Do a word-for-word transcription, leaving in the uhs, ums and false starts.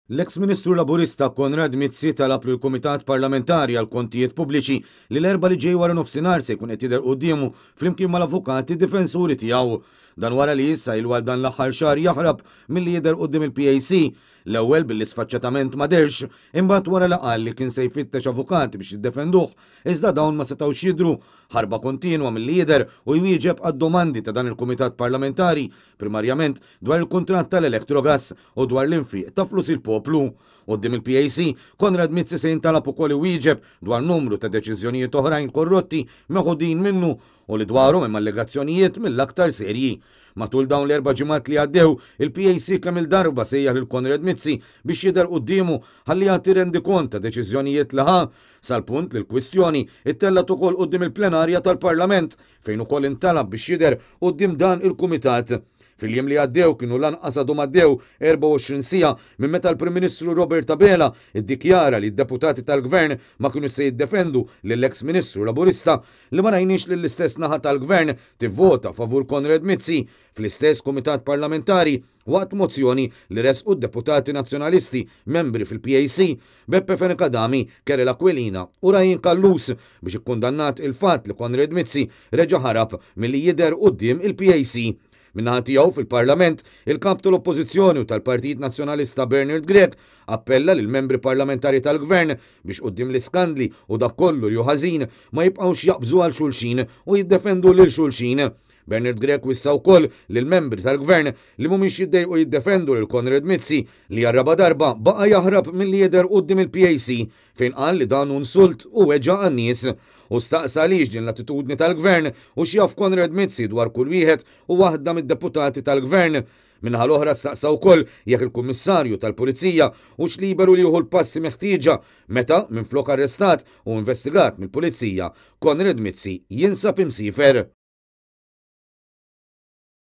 L-eks Ministru Laburista Konrad Mizzi talab lill-Kumitat Parlamentari għall-Kontijiet Pubbliċi li l-Erbgħa li ġej wara nofsinhar se jkun qed jidher quddiemu flimkien mal-avukati difensuri tiegħu. Dan wara li issa ilu għal dan l-aħħar xahar jaħrab milli jidher quddiem il-P A C. L-ewwel billi sfaċċatament ma dehrx, imbagħad wara li qal li kien se jfittex avukati biex jiddefenduh, iżda dawn ma setgħux jidhru. Ħarba kontinwa milli jidher u jwieġeb għad-domandi ta' dan il-Kumitat Parlamentari, primarjament dwar il-kuntratt tal-Electrogas u dwar l-infiq ta' flus il-poplu. Quddiem il-P A C, Konrad Mizzi se jintalab ukoll iwieġeb dwar numru ta' deċiżjonijiet oħrajn korrotti meħudin minnu u li dwarhom hemm allegazzjonijiet mill-aktar serji. Matul dawn l-erba' ġimgħat li għaddew, il-P A C kemm il-darba sejjaħ lil Konrad Mizzi biex jidher quddiemu ħalli jagħti rendikont ta' deċiżjonijiet li ħa, sal-punt li l-kwistjoni ittellgħet ukoll quddiem il-plenarja tal-Parlament, fejn ukoll intalab biex jidher quddiem dan il-kumitat. Fil-jiem li għaddew kienu lanqas għadhom għaddew erbgħa u għoxrin siegħa minn meta l-Prim Ministru Robert Abela iddikjara li d-deputati tal-Gvern ma kienu se jiddefendu lill-eks Ministru Laburista li ma rajniex lill-istess naħa tal-Gvern tivvota favur Konrad Mizzi fl-istess Kumitat Parlamentari waqt mozzjoni li resqu d-deputati nazzjonalisti membri fil-P A C Beppe Fenech Adami, Karol Aquilina u Ryan Callus biex ikkundannat il-fatt li Konrad Mizzi reġa' ħarab milli jidher quddiem il-P A C. Min-naħa tiegħu fil-Parlament, il-kap tal-Oppożizzjoni u tal-Partit Nazzjonalista Bernard Grech appella lil membri parlamentari tal-Gvern biex quddiem l-iskandli u dak kollu li hu ħażin ma jibqgħux jaqbżu għal xulxin u jiddefendu lil xulxin. Bernard Grech wissa wkoll lil membri tal-Gvern li mhumiex jiddejqu jiddefendu lil Konrad Mizzi li għar-raba' darba baqa' jaħrab milli jidher quddiem il-P A C, fejn qal li dan hu insult u weġgħa għan-nies. U staqsa għaliex din l-attitudni tal-Gvern u x'jaf Konrad Mizzi dwar kull wieħed u waħda mid-deputati tal-Gvern. Min-naħa l-oħra staqsa wkoll jekk il-Kummissarju tal-Pulizija hux liberu li jieħu l-passi meħtieġa meta minflok arrestat u investigat mill-Pulizija Konrad Mizzi jinsab imsiefer.